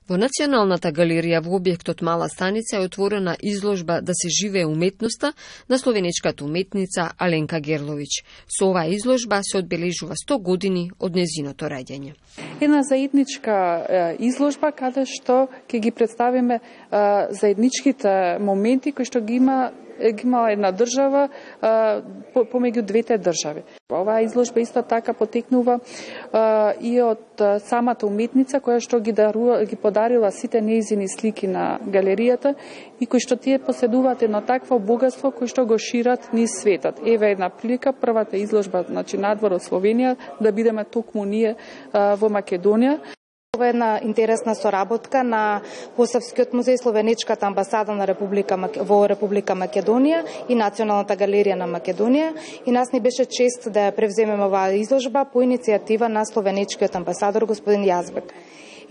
Во Националната галерија во објектот Мала станица е отворена изложба "Да се живее уметноста" на словенечката уметница Аленка Герловиќ. Со оваа изложба се одбележува 100 години од незиното раѓање. Една заедничка изложба каде што ќе ги представиме заедничките моменти кои што ги имала една држава помеѓу двете држави. Оваа изложба исто така потекнува и од самата уметница која што ги подарила сите нејзини слики на галеријата и кои што тие поседуваат едно такво богатство кој што го шират низ светот. Еве една прилика, првата изложба надвор од Словенија да бидеме токму ние во Македонија. Ова е една интересна соработка на Посавскиот музеј, Словенечката амбасада на во Република Македонија и Националната галерија на Македонија. И нас ни беше чест да ја превземеме оваа изложба по иницијатива на словенечкиот амбасадор господин Јазбек.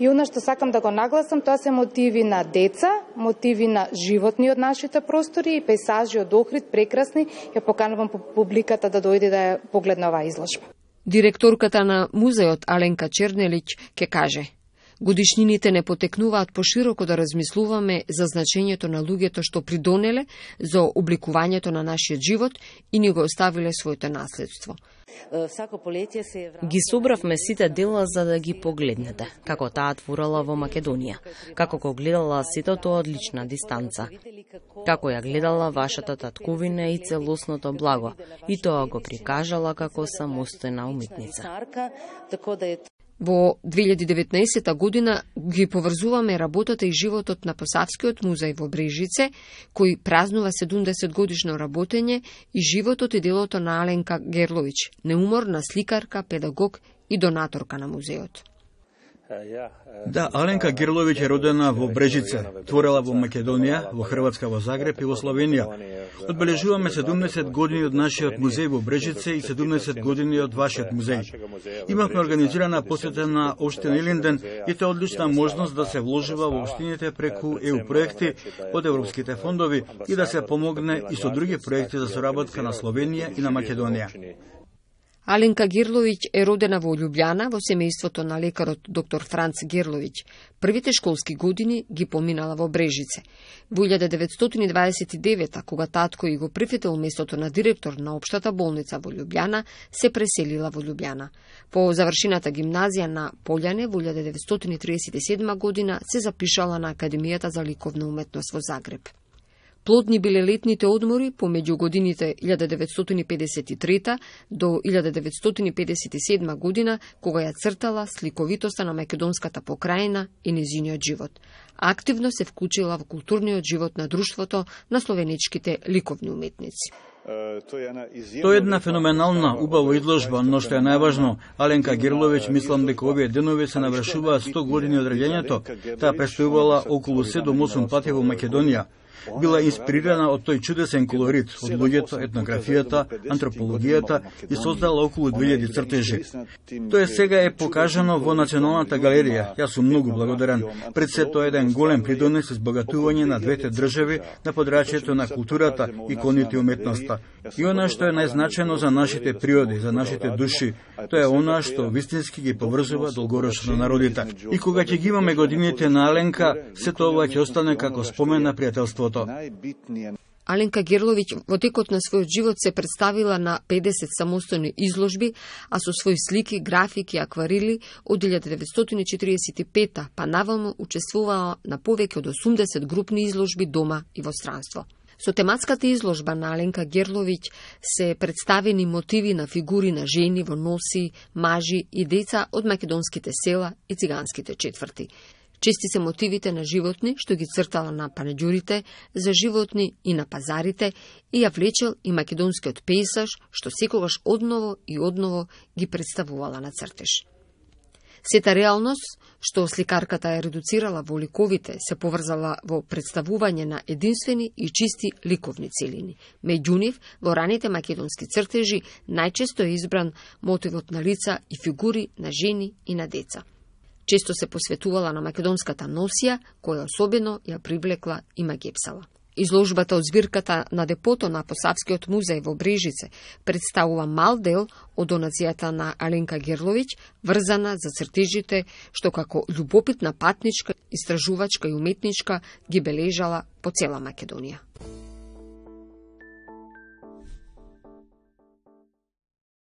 И она што сакам да го нагласам, тоа се мотиви на деца, мотиви на животни од нашите простори и пейзажи од Охрид, прекрасни. Ја поканувам публиката да дојде да ја погледне оваа изложба. Директорката на музеот Аленка Чернелиќ ке каже: годишнините не потекнуваат пошироко да размислуваме за значењето на луѓето што придонеле за обликувањето на нашиот живот и ни го оставиле своето наследство. Ги собравме сите дела за да ги погледнете, како таа творела во Македонија, како го гледала сето тоа од лична дистанца, како ја гледала вашата татковина и целосното благо, и тоа го прикажала како самостојна уметница. Во 2019 година ги поврзуваме работата и животот на Посавскиот музеј во Брежице, кој празнува 70 годишно работење, и животот и делото на Аленка Герловиќ, неуморна сликарка, педагог и донаторка на музеот. Да, Аленка Герловиќ е родена во Брежице, творела во Македонија, во Хрватска во Загреб и во Словенија. Одбележуваме 70 години од нашиот музеј во Брежице и 70 години од вашиот музеј. Имавме организирана посета на општина Илинден и тоа одлична можност да се вложува во општините преку ЕУ проекти од европските фондови и да се помогне и со други проекти за соработка на Словенија и на Македонија. Аленка Герловиќ е родена во Љубљана во семејството на лекарот доктор Франц Герловиќ. Првите школски години ги поминала во Брежице. Во 1929, кога татко и го прифатил местото на директор на општата болница во Љубљана, се преселила во Љубљана. По завршената гимназија на Полјане во 1937 година се запишала на Академијата за ликовна уметност во Загреб. Плодни биле летните одмори помеѓу годините 1953 до 1957 година, кога ја цртала сликовитоста на македонската покрајина и незиниот живот. Активно се вклучила во културниот живот на друштвото на словенечките ликовни уметници. Тоа е една феноменална, убава изложба, но што е најважно, Аленка Герловиќ, мислам дека овие денови се навршуваат 100 години од раѓањето. Таа престојувала околу 7-8 пати во Македонија. Била инспирирана од тој чудесен колорит, од луѓето, етнографијата, антропологијата и создала околу 2000 цртежи. Тоа сега е покажано во Националната галерија. Јас сум многу благодарен. Пред се тоа е еден голем придонес избогатување на двете држави на подрачјето на културата, иконите и уметноста. И она што е најзначено за нашите природи, за нашите души, тоа е она што вистински ги поврзува долгорочно народите. И кога ќе ги имаме годините на Аленка, се тоа ќе остане како спомен на пријателството. Аленка Герловиќ во текот на својот живот се представила на 50 самостојни изложби, а со своји слики, графики и акварели од 1945 па наваму учествувала на повеќе од 80 групни изложби дома и во странство. Со тематската изложба на Аленка Герловиќ се представени мотиви на фигури на жени во носи, мажи и деца од македонските села и циганските четврти. Чести се мотивите на животни, што ги цртала на панеѓурите за животни и на пазарите, и ја влечел и македонскиот пейзаж, што секогаш одново и одново ги представувала на цртеж. Сета реалност, што сликарката е редуцирала во ликовите, се поврзала во представување на единствени и чисти ликовни целини. Меѓу нив, во раните македонски цртежи, најчесто е избран мотивот на лица и фигури на жени и на деца. Често се посветувала на македонската носија, која особено ја привлекла и Магепсала. Изложбата од збирката на депото на Посавскиот музеј во Брежице представува мал дел од донацијата на Аленка Герловиќ, врзана за цртежите што како љубопитна патничка, истражувачка и уметничка ги бележала по цела Македонија.